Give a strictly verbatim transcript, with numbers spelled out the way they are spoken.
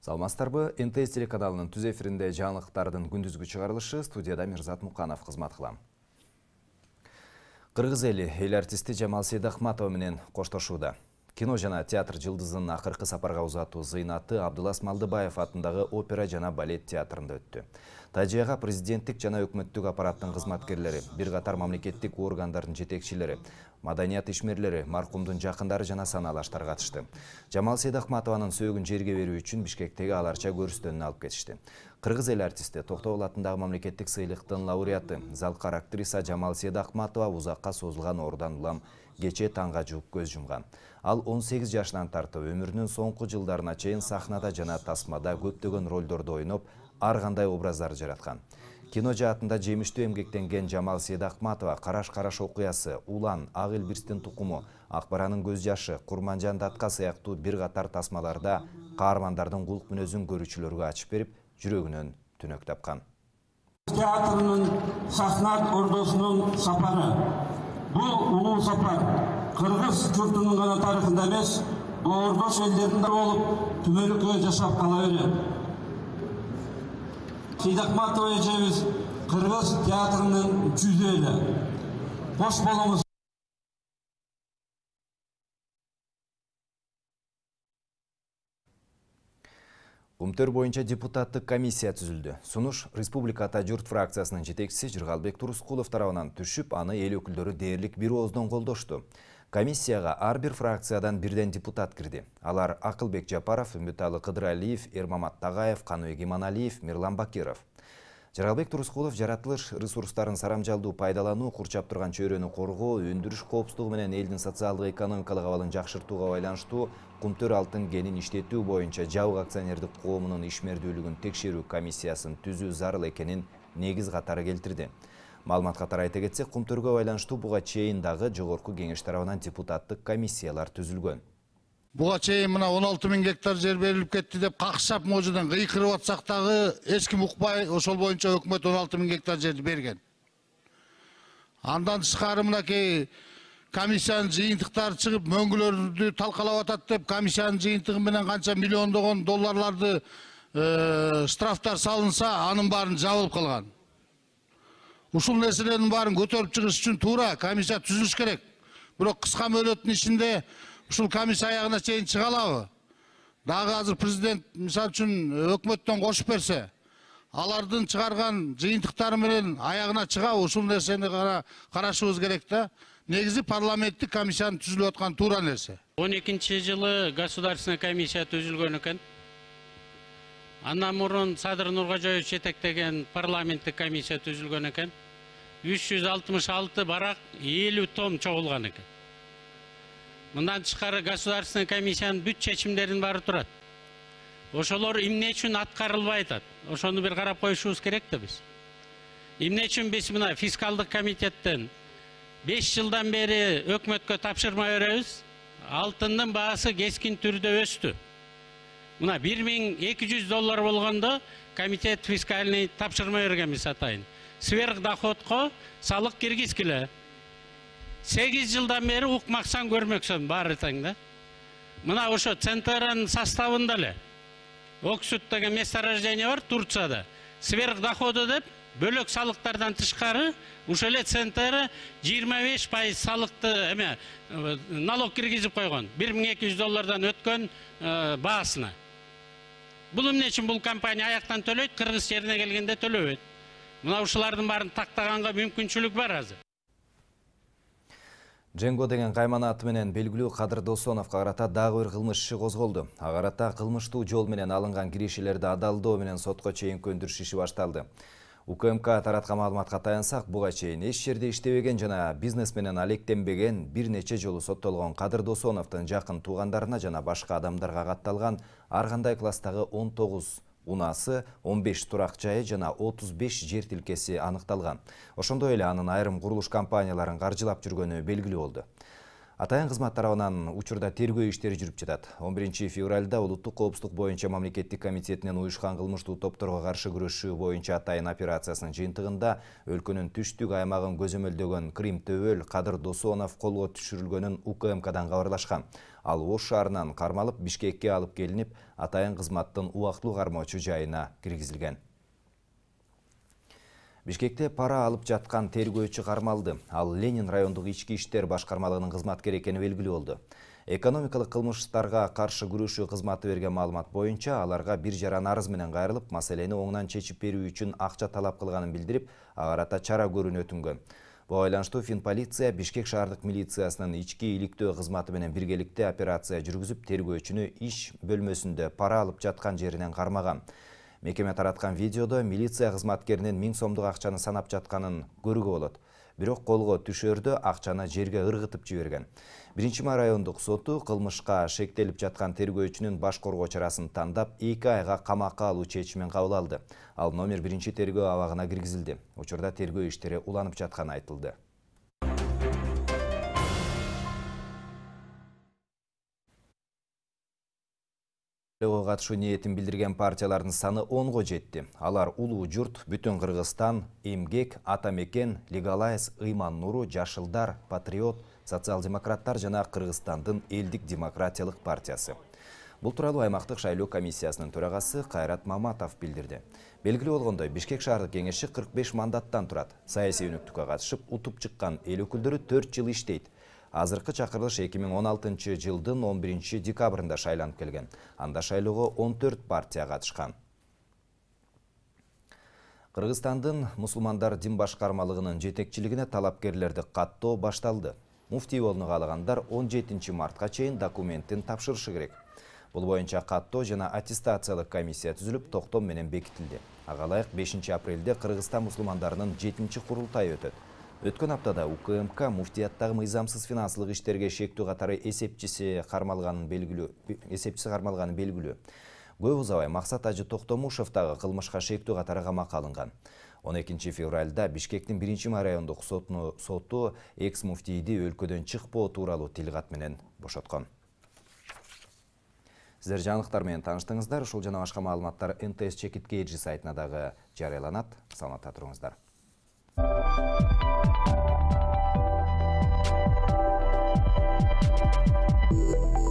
Саламатсыздарбы? эн тэ эс телеканалынын түз эфиринде жаңылыктардын күндүзгү чыгарылышы, студияда Мирзат Муканов кызмат кылам. Кыргыз эли эл артисти Жамал Сейдахматова менен коштошууда. Кино жана театр жылдызынын акыркы сапарга узатуу зыйнаты Абдулас Малдыбаев атындагы опера жана балет театрында өттү. Тажияга президенттик жана өкмөттүк аппараттын кызматкерлери, бир катар мамлекеттик органдардын жетекчилери, маданият ишмерлери, маркумдун жакындары жана санаалаштар катышты. Жамал Сейдахматованын сөөгүн жерге берүү үчүн Бишкектеги аларча көрүстөнүнө алып кетишти. Кыргыз эл артисти Токтогул атындагы мамлекеттик сыйлыктын лауреаты, залкар актриса Жамал Сейдахматова узакка созулган оорудан улам кечээ таңга жууп көз жумган. Ал он сегиз жашынан тартып өмүрүнүн соңку жылдарына чейин сахнада жана тасмада көптөгөн ролдордо ойноп, ар кандай образдарды жараткан. Кино жаатында жемиштүү эмгектенген Жамал Сейдахматова Караш-Караш окуясы, Улан, Ак Элбирстин тукуму, Акбаранын көз жашы, Курманжан датка сыяктуу бир катар тасмаларда каармандардын кулк мүнөзүн көрүүчүлөргө ачып берип, жүрөгүнөн түнөк тапкан. Театрынын сахна ордосунун сапары. Бул улуу сапар Кыргыз журтунун гана тарыхында эмес, ордош элдердин да болуп, түмөлүккө жашап кала берет. Сейдахматова эжебиз Кыргыз театрынын жүзү эле. Кош болуңуз. Кумтөр боюнча депутаттык комиссия түзүлдү. Сунуш Республика Ата журт фракциясынын жетекчиси Жыргалбек Турускулов тарабынан түшүп, аны эл өкүлдөрү дээрлик бир ооздон колдошту. Комиссияга ар бир фракциядан бирден депутат кирди. Алар Акылбек Жапаров, Үмүталы Кыдыралиев, Эрмамат Тагаев, Каныбек Иманалиев, Мирлан Бакиров. Жыргалбек Турускулов жаратылыш ресурстарын сарамжалдуу пайдалануу, курчап турган чөйрөнү коргоо, өндүрүш коопсуздугу менен элдин социалдык экономикалык абалын жакшыртууга байланыштуу Кумтөр алтын кенин иштетүү боюнча жабык акционердик коомунун ишмердүүлүгүн текшерүү комиссиясын түзүү зарыл экенин негиз катары келтирди. Маалымат катары айта кетсек, Кумтөргө байланыштуу буга чейин дагы жогорку кеңеш тарабынан депутаттык комиссиялар түзүлгөн. Буга чейин мына он алты миң гектар жер берилип кетти деп какшап можудан кыйкырып атсак дагы эч ким укпай, ошол боюнча өкмөт он алты миң гектар жерди берген. Андан тышкары мынакей комиссиянын жыйынтыктары чыгып, мөңгүлөрдү талкалап атат деп, комиссиянын жыйынтыгы менен канча миллиондогон долларларды штрафтар салынса, анын баарын жабылып калган. Ушул нерселердин баарын көтөрүп чыгыш үчүн туура комиссия түзүлүш керек. Бирок кыска мөөнөттүн ичинде ушул комиссия аягына чейин чыга алабы? Дагы азыр президент мисалы үчүн өкмөттөн кошуп берсе, алардын чыгарган жыйынтыктары менен аягына чыгабы? Ушул нерсени карашыбыз керек да. Негизи парламенттик комиссиянын түзүлүп аткан туура нерсе. он экинчи жылы государственный комиссия түзүлгөн экен. Андан мурун Садыр Нуркожоевич жетектеген парламенттик комиссия түзүлгөн экен. үч жүз алтымыш алты барак элүү том чогулган экен. Мындан тышкары государственный комиссиянын бүт чечимдеринин баары турат. Ошолор эмне үчүн аткарылбай атат? Ошону бир карап коюшубуз керек да биз. Эмне үчүн биз мына фискалдык комитеттен беш жылдан бери өкмөткө тапшырма беребиз? Алтындын баасы кескин түрдө өстү. Мына бир миң эки жүз доллар болгондо комитет фискальный тапшырма бергенбиз атайын. Сверх доходко салык киргизгиле. сегиз жылдан бери укмаксан көрмөксүн баары тең да. Мына ошо Центранын составында эле Оксуд деген месторождение бар Турцияда. Сверх доходу деп бөлөк салыктардан тышкары ушул эле Центра жыйырма беш пайыз салыкты эме налог киргизип койгон. бир миң эки жүз доллардан өткөн баасына. Бул эмне үчүн бул компания аяктан төлөйт, кыргыз жерине келгенде төлөбөйт. Мына ушулардын баарын тактаганга мүмкүнчүлүк бар азыр. Дженго деген кайман аты менен белгилүү Кадыр Досоновго карата дагы бир кылмыш иши козголду. Ага карата кылмыштуу жол менен алынган киришелерди адалдоо менен сотко чейин көндүрүш иши башталды. У К М К тараткан маалыматка таянсак, буга чейин эч жерде иштебеген жана бизнес менен алектенбеген, бир нече жолу соттолгон Кадыр Досоновдун жакын туугандарына жана башка адамдарга катталган ар кандай класстагы он тогуз унасы, он беш турак жайы жана отуз беш жер тилкеси аныкталган. Ошондой эле анын айрым курулуш компанияларын каржылап жүргөнү белгилүү болду. Атайын кызмат тарабынан учурда тергөө иштери жүрүп жатат. он биринчи февралда улуттук коопсуздук боюнча мамлекеттик комитетинин уюшкан кылмыштуу топторго каршы күрөшүү боюнча атайын операциясынын жыйынтыгында өлкөнүн түштүк аймагын көзөмөлдөгөн Крим Төбөл Кадыр Досонов колго түшүрүлгөнүн У К М Кдан кабарлашкан. Ал Ош шаарынан кармалып Бишкекке алып келинип, атайын кызматтын убактылуу кармоочу жайына киргизилген. Бишкекте пара алып жаткан тергөөчү кармалды. Ал Ленин райондук ички иштер башкармалыгынын кызматкери экени белгилүү болду. Экономикалык кылмыштарга каршы күрөшүү кызматы берген маалымат боюнча аларга бир жаран арыз менен кайрылып, маселени оңунан чечип берүү үчүн акча талап кылганын билдирип, ага карата чара көрүүнү өтүнгөн. Буга байланыштуу Финполиция Бишкек шаардык милициясынын ички иликтөө кызматы менен биргеликте операция жүргүзүп, тергөөчүнү иш бөлмөсүндө пара алып жаткан жеринен кармаган. Мекеме тараткан видеодо милиция кызматкеринин миң сомдук акчаны санап жатканын көрүүгө болот. Бирок колго түшөрдө акчаны жерге ыргытып жиберген. Биринчи май райондук соту кылмышка шектелип жаткан тергөөчүнүн баш коргоо чарасын тандап, эки айга камакка алуу чечимин кабыл алды. Ал номер биринчи тергөө абагына киргизилди. Учурда тергөө иштери уланып жатканы айтылды. Шайлоого катышуу ниетин билдирген партиялардын саны онго жетти. Алар Улуу журт, Бүтүн Кыргызстан, Эмгек, Ата мекен, Легалайз, Ыйман Нуру, Жашылдар, Патриот, Социал-демократтар жана Кыргызстандын Элдик демократиялык партиясы. Бул тууралуу аймактык шайлоо комиссиясынын төрагасы Кайрат Маматов билдирди. Белгилүү болгондой, Бишкек шаардык кеңеши кырк беш мандаттан турат. Саясий өнүктүккө катышып, утуп чыккан эл өкүлдөрү төрт жыл иштейт. Азыркы чакырылыш эки миң он алтынчы жылдын он биринчи декабрында шайланып келген. Анда шайлоого он төрт партия катышкан. Кыргызстандын мусулмандар дин башкармалыгынын жетекчилигине талапкерлерди каттоо башталды. Муфтий болууну каалагандар он жетинчи мартка чейин документин тапшырышы керек. Бул боюнча каттоо жана аттестациялык комиссия түзүлүп, токтом менен бекитилди. Ага ылайык бешинчи апрелде Кыргызстан мусулмандарынын жетинчи курултайы өтөт. Өткөн аптада У К М К муфтияттагы мыйзамсыз финансылык иштерге шектүү катары эсепчиси кармалганын белгилүү, эсепчиси кармалганы белгилүү. Көп узабай Максат Ажы Токтомушев дагы кылмышка шектүү катары камакка алынган. он экинчи февралда Бишкектин биринчи май райондук соту экс муфтийди өлкөдөн чыкпоо тууралуу тилкат менен бошоткон. Сиздер жаңылыктар менен тааныштыңыздар. Ушул жана башка маалыматтар Н Т С Чекитке эжи сайтына дагы жарыяланат. Саламатта туруңуздар. Thank you.